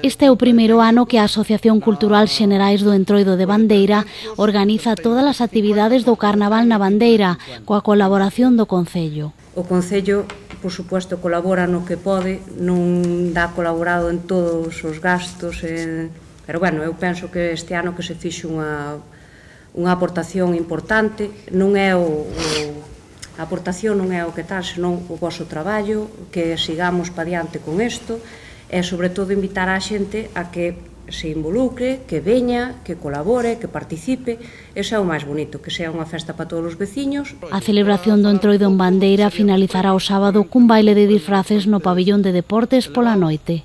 Este é o primeiro ano que a Asociación Cultural Xenerais do Entroido de Bandeira organiza todas as actividades do Carnaval na Bandeira, coa colaboración do Concello. O Concello, por suposto, colabora no que pode, non dá colaborado en todos os gastos, pero, bueno, eu penso que este ano que se fixe unha aportación importante, non é a aportación non é o que tal, senón o voso traballo, que sigamos pa diante con isto, e, sobre todo, invitar a xente a que se involucre, que veña, que colabore, que participe. Ese é o máis bonito, que sea unha festa para todos os veciños. A celebración do Entroido en Bandeira finalizará o sábado cun baile de disfraces no pabillón de deportes pola noite.